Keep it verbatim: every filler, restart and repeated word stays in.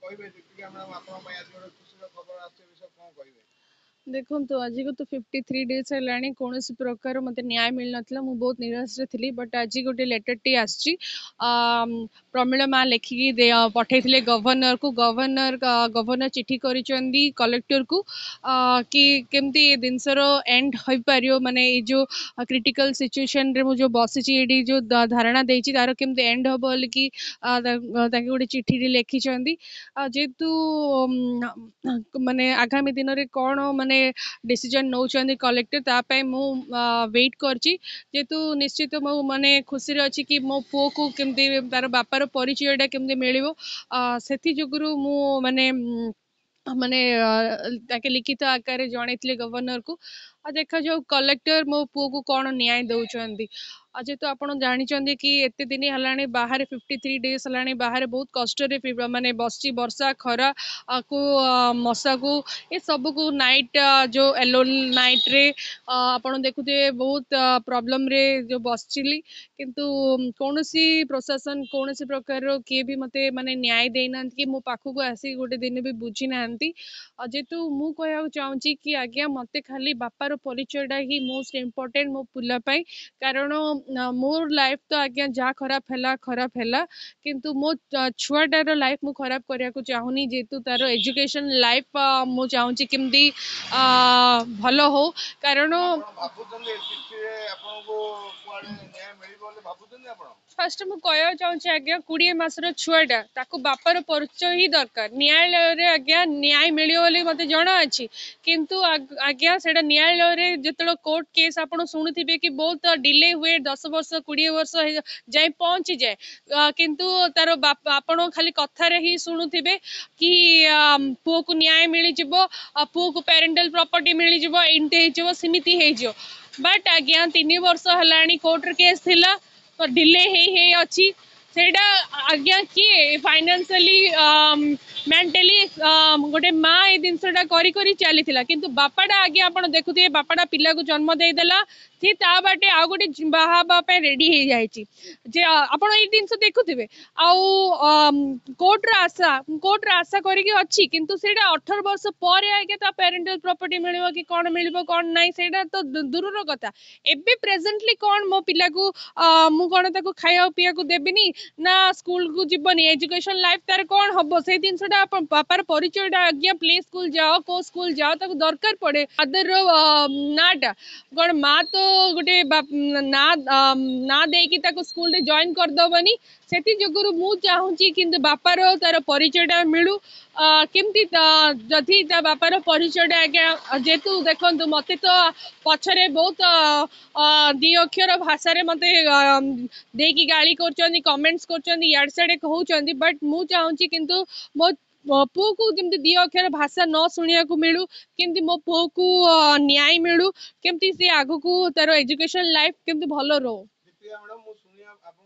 କହିବେ ଦୀପିକା ମ୍ୟାଡ଼ାମ, ଆପଣଙ୍କ ପାଇଁ ଆଜି ଗୋଟେ ଖୁସିର ଖବର ଆସିଛି, ଏ ବିଷୟରେ କଣ କହିବେ? ଦେଖନ୍ତୁ, ଆଜିକୁ ତ ଫିଫ୍ଟି ଥ୍ରୀ ଡେଜ୍ ହେଲାଣି, କୌଣସି ପ୍ରକାର ମୋତେ ନ୍ୟାୟ ମିଳିନଥିଲା। ମୁଁ ବହୁତ ନିରାଶରେ ଥିଲି, ବଟ୍ ଆଜି ଗୋଟେ ଲେଟର୍ଟି ଆସିଛି। ପ୍ରମିଳା ମା ଲେଖିକି ପଠେଇଥିଲେ ଗଭର୍ଣ୍ଣରକୁ, ଗଭର୍ଣ୍ଣର ଗଭର୍ଣ୍ଣର ଚିଠି କରିଛନ୍ତି କଲେକ୍ଟରକୁ କି କେମିତି ଏ ଜିନିଷର ଏଣ୍ଡ ହୋଇପାରିବ, ମାନେ ଏଇ ଯେଉଁ କ୍ରିଟିକାଲ ସିଚୁଏସନରେ ମୁଁ ଯେଉଁ ବସିଛି ଏଇଠି, ଯେଉଁ ଧାରଣା ଦେଇଛି, ତାର କେମିତି ଏଣ୍ଡ ହେବ ବୋଲିକି ତାଙ୍କେ ଗୋଟେ ଚିଠିଟି ଲେଖିଛନ୍ତି। ଯେହେତୁ ମାନେ ଆଗାମୀ ଦିନରେ କ'ଣ ମାନେ ଡିସିଜନ୍ ନେଉଛନ୍ତି କଲେକ୍ଟର, ତା ପାଇଁ ମୁଁ ୱେଟ୍ କରିଛି। ଯେହେତୁ ନିଶ୍ଚିତ ମୁଁ ମାନେ ଖୁସିରେ ଅଛି କି ମୋ ପୁଅକୁ କେମିତି ତାର ବାପାର ପରିଚୟଟା କେମିତି ମିଳିବ, ସେଥି ଯୋଗୁରୁ ମୁଁ ମାନେ ମାନେ ତାଙ୍କେ ଲିଖିତ ଆକାରରେ ଜଣେଇଥିଲେ ଗଭର୍ଣ୍ଣରକୁ। ଆଉ ଦେଖାଯାଉ କଲେକ୍ଟର ମୋ ପୁଅକୁ କ'ଣ ନ୍ୟାୟ ଦେଉଛନ୍ତି। ଆଉ ଯେହେତୁ ଆପଣ ଜାଣିଛନ୍ତି କି ଏତେ ଦିନ ହେଲାଣି ବାହାରେ, ଫିଫ୍ଟି ଥ୍ରୀ ଡେଜ୍ ହେଲାଣି ବାହାରେ ବହୁତ କଷ୍ଟରେ ମାନେ ବସିଛି, ବର୍ଷା ଖରା କୁ ମଶାକୁ ଏ ସବୁକୁ, ନାଇଟ୍ ଯେଉଁ ଏଲୋନ୍ ନାଇଟ୍ରେ ଆପଣ ଦେଖୁଥିବେ, ବହୁତ ପ୍ରୋବ୍ଲେମରେ ଯେଉଁ ବସିଥିଲି। କିନ୍ତୁ କୌଣସି ପ୍ରଶାସନ, କୌଣସି ପ୍ରକାରର କିଏ ବି ମୋତେ ମାନେ ନ୍ୟାୟ ଦେଇନାହାନ୍ତି କି ମୋ ପାଖକୁ ଆସିକି ଗୋଟେ ଦିନ ବି ବୁଝି ନାହାନ୍ତି। ଆଉ ଯେହେତୁ ମୁଁ କହିବାକୁ ଚାହୁଁଛି କି ଆଜ୍ଞା, ମୋତେ ଖାଲି ବାପାର ପରିଚୟଟା ହିଁ ମୋଷ୍ଟ ଇମ୍ପୋର୍ଟାଣ୍ଟ ମୋ ପିଲା ପାଇଁ। କାରଣ ମୋର ଲାଇଫ୍ ତ ଆଜ୍ଞା ଯାହା ଖରାପ ହେଲା ଖରାପ ହେଲା, କିନ୍ତୁ ମୋ ଛୁଆଟାର ଲାଇଫ୍ ମୁଁ ଖରାପ କରିବାକୁ ଚାହୁଁନି। ଯେହେତୁ ତାର ଏଜୁକେସନ୍ ଲାଇଫ୍ ମୁଁ ଚାହୁଁଛି କେମିତି ଭଲ ହଉ। କାରଣ ଭାବୁଛନ୍ତି ଚିଠିରେ ଆପଣଙ୍କୁ କୁଆଡେ ନ୍ୟାୟ ମିଳିବ ବୋଲି ଭାବୁଛନ୍ତି ଆପଣ? ଫାଷ୍ଟ ମୁଁ କହିବାକୁ ଚାହୁଁଛି ଆଜ୍ଞା, କୋଡ଼ିଏ ମାସର ଛୁଆଟା, ତାକୁ ବାପାର ପରିଚୟ ହିଁ ଦରକାର। ନ୍ୟାୟାଳୟରେ ଆଜ୍ଞା ନ୍ୟାୟ ମିଳିବ ବୋଲି ମୋତେ ଜଣା ଅଛି, କିନ୍ତୁ ଆଜ୍ଞା ସେଇଟା ନ୍ୟାୟାଳୟରେ ଯେତେବେଳେ କୋର୍ଟ କେସ୍ ଆପଣ ଶୁଣୁଥିବେ କି ବହୁତ ଡିଲେ ହୁଏ, ଦଶ ବର୍ଷ କୋଡ଼ିଏ ବର୍ଷ ଯାଇ ପହଞ୍ଚିଯାଏ। କିନ୍ତୁ ତାର ବାପା, ଆପଣ ଖାଲି କଥାରେ ହିଁ ଶୁଣୁଥିବେ କି ପୁଅକୁ ନ୍ୟାୟ ମିଳିଯିବ, ପୁଅକୁ ପ୍ୟାରେଣ୍ଟାଲ ପ୍ରପର୍ଟି ମିଳିଯିବ, ଏମିତି ହେଇଯିବ, ସେମିତି ହେଇଯିବ। ବଟ୍ ଆଜ୍ଞା ତିନି ବର୍ଷ ହେଲାଣି କୋର୍ଟରେ କେସ୍ ଥିଲା, ତ ଡିଲେ ହେଇ ହେଇ ଅଛି ସେଇଟା। ଆଜ୍ଞା କିଏ ଫାଇନାନ୍ସିଆଲି, ମେଣ୍ଟାଲି ଗୋଟେ ମା ଏଇ ଜିନିଷଟା କରି କରି ଚାଲିଥିଲା। କିନ୍ତୁ ବାପାଟା ଆଜ୍ଞା ଆପଣ ଦେଖୁଥିବେ, ବାପାଟା ପିଲାକୁ ଜନ୍ମ ଦେଇଦେଲା, ସିଏ ତା ବାଟେ ଆଉ ଗୋଟେ ବାହା ହେବା ପାଇଁ ରେଡି ହେଇଯାଇଛି ଯେ ଆପଣ ଏଇ ଜିନିଷ ଦେଖୁଥିବେ। ଆଉ କୋର୍ଟର ଆଶା, କୋର୍ଟର ଆଶା କରିକି ଅଛି, କିନ୍ତୁ ସେଇଟା ଅଠର ବର୍ଷ ପରେ ଆଜ୍ଞା ତା ପ୍ୟାରେଣ୍ଟାଲ ପ୍ରପର୍ଟି ମିଳିବ କି କ'ଣ ମିଳିବ କ'ଣ ନାହିଁ, ସେଇଟା ତ ଦୂରର କଥା। ଏବେ ପ୍ରେଜେଣ୍ଟଲି କ'ଣ ମୋ ପିଲାକୁ ମୁଁ କ'ଣ ତାକୁ ଖାଇବାକୁ ପିଇବାକୁ ଦେବିନି ନା ସ୍କୁଲକୁ ଯିବନି? ଏଜୁକେସନ ଲାଇଫ ତାର କ'ଣ ହବ? ସେଇ ଜିନିଷଟା ବାପାର ପରିଚୟଟା ଆଜ୍ଞା, ପ୍ଲେ ସ୍କୁଲ ଯାଅ, କୋଉ ସ୍କୁଲ ଯାଅ, ତାକୁ ଦରକାର ପଡେ ଫାଦରର ନାଁଟା। କ'ଣ ମା ତ ଗୋଟେ ନାଁ ନାଁ ଦେଇକି ତାକୁ ସ୍କୁଲରେ ଜଏନ୍ କରିଦବନି। ସେଥି ଯୋଗୁରୁ ମୁଁ ଚାହୁଁଛି କିନ୍ତୁ ବାପାର ତାର ପରିଚୟଟା ମିଳୁ କେମିତି। ଯଦି ତା ବାପାର ପରିଚୟଟା ଆଜ୍ଞା, ଯେହେତୁ ଦେଖନ୍ତୁ, ମତେ ତ ପଛରେ ବହୁତ ଦି ଅକ୍ଷର ଭାଷାରେ ମତେ ଦେଇକି ଗାଳି କରୁଛନ୍ତି, କମେଣ୍ଟସ କରୁଛନ୍ତି, ଇଆଡ଼େ ସିଆଡ଼େ କହୁଛନ୍ତି, ବଟ୍ ମୁଁ ଚାହୁଁଛି କିନ୍ତୁ ମୋ ପୁଅକୁ ଯେମିତି ଦି ଅକ୍ଷର ଭାଷା ନ ଶୁଣିବାକୁ ମିଳୁ, କେମିତି ମୋ ପୁଅକୁ ନ୍ୟାୟ ମିଳୁ, କେମିତି ସେ ଆଗକୁ ତାର ଏଜୁକେସନ ଲାଇଫ କେମିତି ଭଲ ରହୁ। ଦୀପିକା ମ୍ୟାଡ଼ାମ, ମୁଁ ଶୁଣିବା ଆପଣ